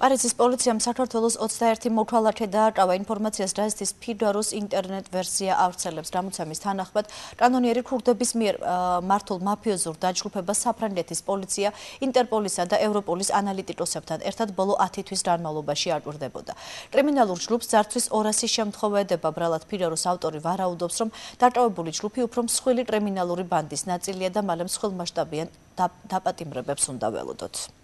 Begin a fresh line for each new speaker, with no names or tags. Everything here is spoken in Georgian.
პარიზის პოლიციამ საქართველოს 21 მოქალაქე დააკავა ინფორმაციას გაზეთის ფიგაროს ინტერნეტ ვერსია ავრცელებს. გამოცემის თანახმად, კანონიერი ქურდების მიერ მართულ მაფიოზურ დაჯგუფებას საფრანგეთის პოლიცია ინტერპოლისა და ევროპოლის ანალიტიკოსებთან ერთად ბოლო 10 თვის განმავლობაში აკვირდებოდა. კრიმინალურ ჯგუფს ძარცვის 200 შემთხვევა ედება. ბრალად ფიგაროს ავტორი ვარაუდობს, რომ დაკავებული ჯგუფი უფრო მსხვილი კრიმინალური ბანდის ნაწილია და მალე მსხვილმასშტაბიან დაპატიმრებებს უნდა ველოდოთ.